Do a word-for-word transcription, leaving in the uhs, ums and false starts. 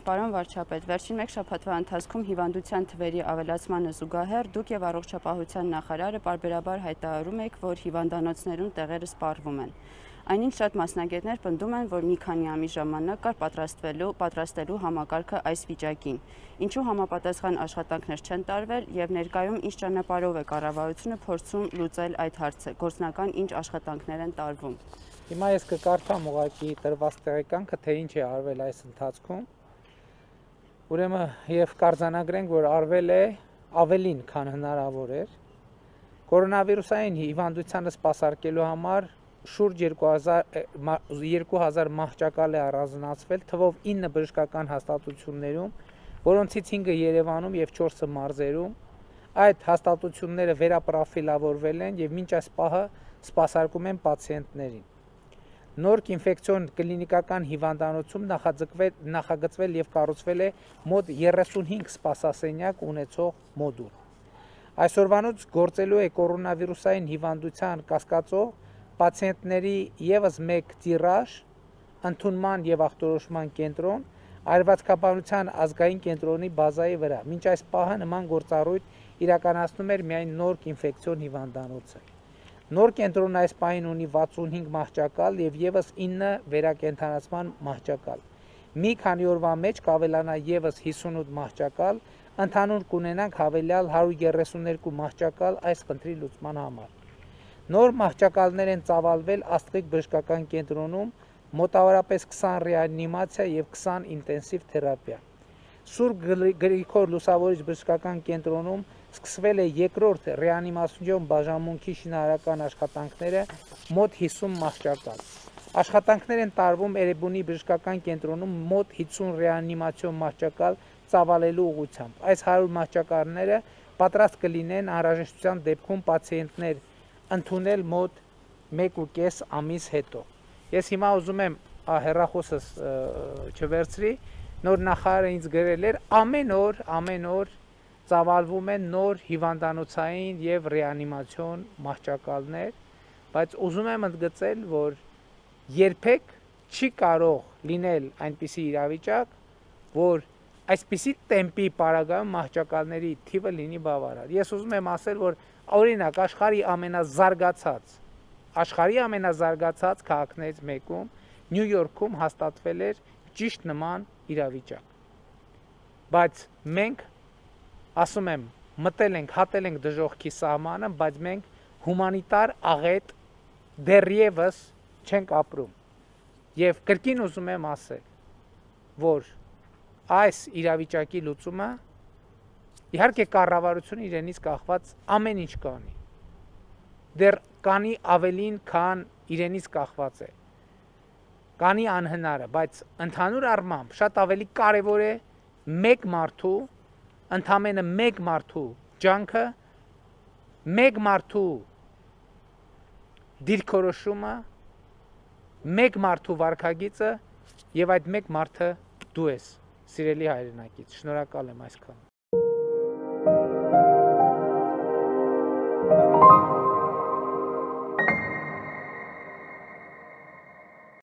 Պարոն վարչապետ, վերջին մեկ շաբաթվա ընթացքում հիվանդության թվերի ավելացմանը զուգահեռ դուք եւ առողջապահության նախարարը պարբերաբար հայտարարում եք, որ հիվանդանոցներում տեղերը սպառվում են։ Այնինչ շատ մասնագետներ պնդում են, որ մի քանի ամիս ժամանակ կար պատրաստվելու, պատրաստելու համակարգը այս վիճակին։ Ինչու համապատասխան աշխատանքներ չեն տարվել եւ ներկայում ինչ ճանապարհով է կառավարությունը փորձում լուծել այդ հարցը, գործնական ինչ աշխատանքներ են տարվում։ Հիմա ես կկարդամ ուղղակի տրված տեղեկանքը, թե ինչ է արվել այս ընթացքում։ Ուրեմն եւ կարձանագրենք, որ արվել է ավելին, քան հնարավոր էր։ Կորոնավիրուսային հիվանդությանը սպասարկելու համար շուրջ երկու հազար մահճակալ է առանձնացվել, թվով ինը բժշկական հաստատություններում, որոնցից հինգը Երևանում եւ չորսը մարզերում։ Այդ հաստատությունները վերապրոֆիլավորվել են եւ մինչ այս պահը սպասարկում են պացիենտներին։ Նորք ինֆեկցիոն կլինիկական հիվանդանոցում նախագծվել եւ կառուցվել է մոտ երեսունհինգ սպասասենյակ ունեցող մոդուլ։ Այսօրվանից գործելու է կորոնավիրուսային հիվանդության կասկածով պացիենտների եւս մեկ տիրաժ, ընդունման եւ ախտորոշման կենտրոն, այրվածքաբանության ազգային կենտրոնի բազայի վրա։ Մինչ այս պահը նման գործառույթ իրականացնում էր միայն Նորք ինֆեկցիոն հիվանդանոցը։ Նոր կենտրոնը այս պահին ունի վաթսունհինգ մահճակալ եւ եւս ինը վերակենդանացման մահճակալ։ Մի քանի օրվա մեջ կավելանա եւս հիսունութ մահճակալ, ընդհանուր կունենանք հավելյալ հարյուր երեսուններկու մահճակալ այս խնդրի լուծման համար։ Նոր մահճակալներ են ծավալվել Աստղիկ բժշկական կենտրոնում, մոտավորապես քսան ռեանիմացիա եւ քսան ինտենսիվ թերապիա։ Սուրբ Գրիգոր Լուսավորիչ բժշկական կենտրոնում սկսվել է երկրորդ ռեանիմացիոն բաժանմունքի շինարարական աշխատանքները մոտ հիսուն մահճակալ։ Աշխատանքներ են տարվում Էրեբունի բժշկական կենտրոնում մոտ հիսուն ռեանիմացիոն մահճակալ ծավալելու ուղղությամբ։ Այս հարյուր մահճակալները պատրաստ կլինեն անհրաժեշտության դեպքում պացիենտներ ընդունել մոտ մեկ ու կես ամիս հետո։ Ես հիմա ուզում եմ հեռախոսս չվերցրի, նոր նախարարը ինձ գրել էր ամեն օր, ամեն օր ծավալվում են նոր հիվանդանոցային եւ ռեանիմացիոն մահճակալներ, բայց ուզում եմ ընդգծել, որ երբեք չի կարող լինել այնպիսի իրավիճակ, որ այսպիսի տեմպի պարագայում մահճակալների թիվը լինի բավարար։ Ես ուզում եմ ասել, որ օրինակ աշխարհի ամենազարգացած, աշխարհի ամենազարգացած քաղաքներից մեկում Նյու Յորքում հաստատվել էր ճիշտ նման իրավիճակ։ Բայց մենք ասում եմ, մտել ենք, հատել ենք դժոխքի սահմանը, բայց մենք հումանիտար աղետ դեռևս չենք ապրում։ Եվ կրկին ուզում եմ ասել, որ այս իրավիճակի լուծումը իհարկե կառավարությունը իրենից կախված ամեն ինչ կանի։ Դեռ կանի ավելին, քան իրենից կախված է։ Կանի անհնարը, բայց ընդհանուր առմամբ շատ ավելի կարևոր է մեկ մարդու, ընդամենը մեկ մարդու ջանքը, մեկ մարդու դիրքորոշումը, մեկ մարդու վարքագիծը եւ այդ մեկ մարդը դու ես, սիրելի հայրենակից։ Շնորհակալ եմ այսքան։